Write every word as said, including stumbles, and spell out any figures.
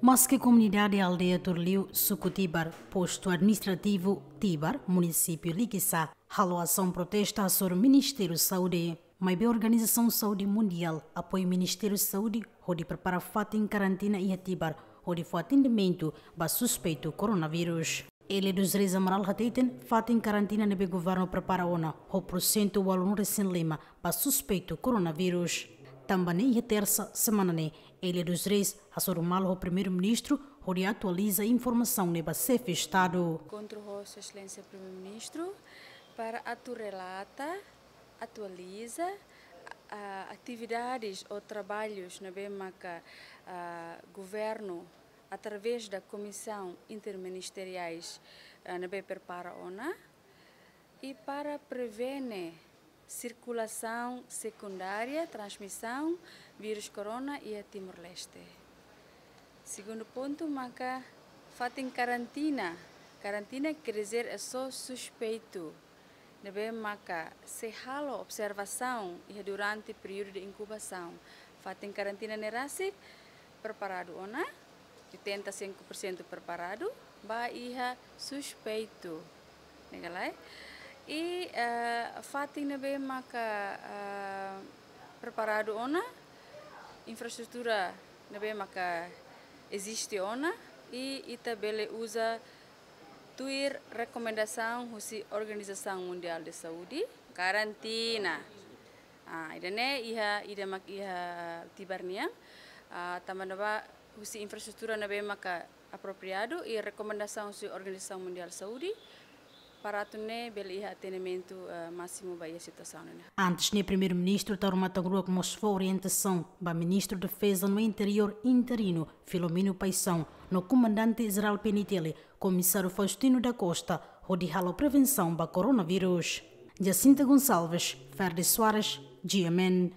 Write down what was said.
Maske komunidade aldeia Turliu, suku Tibar, postu administrativu Tibar, munisípiu Likisá, halo asaun protesta hasoru Ministériu Saúde, maibé Organizasaun Saúde Mundiál apoia Ministériu Saúde hodi prepara fatin karantina iha Tibar hodi fó atendimentu ba suspeitu koronavírus. Hélio dos Reis Amaral hateten, fatin karantina ne'ebé governu prepara ona ho porsentu ualunulu-resin-lima ba suspeitu koronavírus. Tanba ne'e iha tersa semana ne'e, Hélio dos Reis hasoru malu ho Primeiru-Ministru hodi atualiza informasaun ne'e ba Xefe Estadu. Enkontru ho Sua Exelénsia Primeiru-Ministru para atu relata, atualiza, ah, atividades ou trabalhos ne'ebé maka, ah, governu através da Comissão Interministeriais, ah, ne'ebé prepara ona, i para prevene sirkulasaun sekundária transmisaun vírus corona iha Timor-Leste. Segundu pontu maka fatin karantina. Karantina quer dizer é só suspeitu ne'ebé maka sei halo observasaun iha durante períodu de inkubasaun. Fatin karantina ne'e rasik preparadu ona, oitenta e cinco por cento preparadu, ba iha suspeitu. Ne'e ka lae? I, eh, fatin ne'ebé maka, eh, preparadu ona, infraestrutura ne'ebé maka eziste ona, i ita bele uza tuir rekomendasaun husi Organizasaun Mundiál de Saúde, karantina. Ah, ida-ne'e iha, ida mak iha Tibar nian, ah, tanba ne'ebá husi infraestrutura ne'ebé maka apropriadu i rekomendasaun husi Organizasaun Mundiál Saúde, para atu nune'e bele iha atendimentu, eh, másimu ba iha situasaun ne'e. Antes ne'e Primeiru-Ministru Taur Matan Ruak mós fó orientasaun ba Ministru Defeza no Interiór interinu, Filomeno Paixão, no Komandante Jerál P N T L, Komisáriu Faustino da Costa, hodi halo prevensaun ba koronavírus. Jacinta Gonçalves, Ferdi Soares, G M N.